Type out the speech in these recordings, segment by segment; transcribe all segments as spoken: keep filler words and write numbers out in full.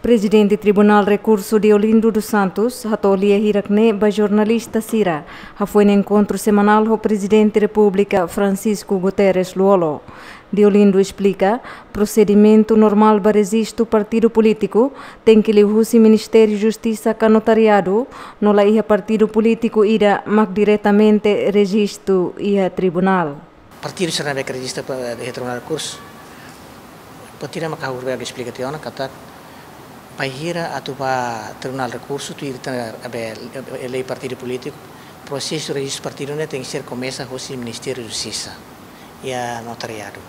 Prezidente Tribunál Rekursu Deolindo dos Santos hato'o lia hirak-ne'e ba jornalista sira, hafoin enkontru semanál ho Prezidente Repúblika Francisco Guterres Lú-Olo. Deolindo esplika, prosedimentu normál ba rejistu partidu polítiku tenke liuhusi Ministériu Justisa ka notariadu, no la iha partidu polítiku ida mak diretamente rejistu iha tribunál. Partidu sira ne'ebé rejista iha Tribunál Rekursu, partidu mak ha'u hakarak esplika tiha ona katak, bainhira atu ba Tribunál Rekursu, tuir ita-nia lei partidu polítiku, prosesu rejistu partidu ne'e tenke komesa hosi Ministériu Justisa iha notariadu.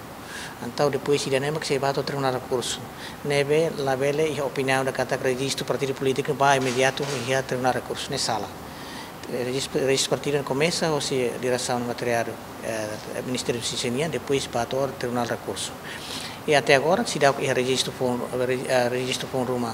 Entaun depois ida-ne'e mak sei ba to'o Tribunál Rekursu. Ne'ebé labele iha opiniaun ida katak rejistu partidu polítiku ba imediatu iha Tribunál Rekursu, ne'e sala. Rejistu, rejistu partidu komesa hosi diresaun notariadu, eh, Ministériu Justisa nian, depois ba to'o Tribunál Rekursu. I até agora seidauk iha rejistu foun, re-, eh, rejistu foun ruma.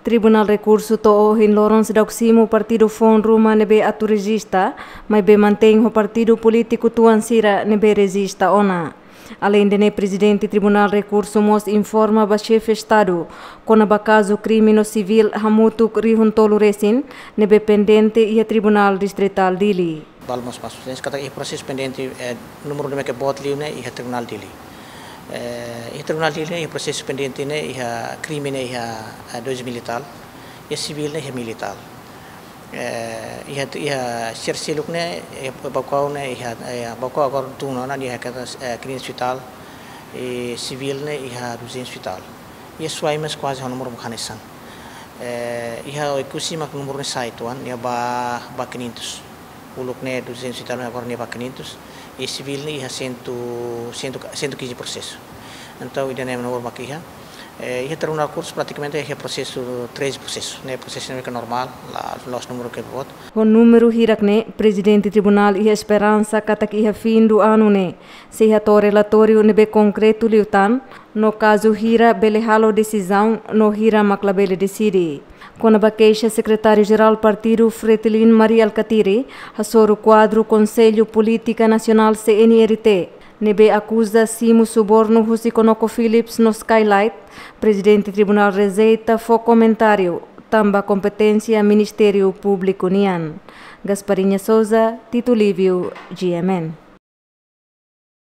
Tribunál Rekursu to'o ohin loron seidauk simu partidu foun ruma ne'ebé atu rejista, maibé mantein ho partidu polítiku tuan sira ne'ebé rejista ona. Aleinde ne'e, Prezidente Tribunál Rekursu mós informa ba Xefe Estadu kona-ba kazu krime no sivíl hamutuk rihun tolu resin ne'ebé pendente iha Tribunál Distritál Dili. Balmos mas, katak iha prosesu pendente, eh, númeru ne'ebé boot liu ne'e iha Tribunál Dili. Eh, iha Tribunál Dili ne'e iha prosesu pendente ne'e iha krime ne'e iha, eh, dois mil e tal, iha sivíl ne'e iha mil e tal. Eh, iha, iha sira seluk ne'e, eh, Baucau ne'e iha, eh, Baucau agora tun ona iha katak, eh, quinhentos e tal, i sivíl ne'e iha duzentos e tal. Iha Suai mós kuaze ho númeru mak hanesan. Eh, iha Oekusi mak númeru ne'e sa'e tuan, iha ba, ba quinhentos. Uluk ne'e duzentos e tal, agora ne'e ba quinhentos. I sivíl ne'e iha cem, cem, cento e quinze prosesu. Entaun, ida-ne'e númeru mak iha. Eh, iha Tribunál Rekursu pratikamente iha prosesu, treze prosesu. Ne'e prosesu ne'ebé normál, la, la'ós númeru ke boot. Ho númeru hirak-ne'e, Prezidente Tribunál iha esperansa katak iha fin do ano ne'e sei hato'o relatóriu ne'ebé konkretu liután, no kazu hira bele halo desizaun no hira mak labele deside. Kona-ba keixa, Sekretáriu-Jerál Partidu Fretilin, Mari Alkatiri, hasoru kuadru Konsellu Polítika Nasionál, C N R T, ne'ebé akuza simu subornu husi ConocoPhillips no Skylight, Prezidente Tribunál rejeita fó komentáriu, tanba kompeténsia Ministériu Públiku nian. Gasparinha Souza, Tito Lívio, G M N.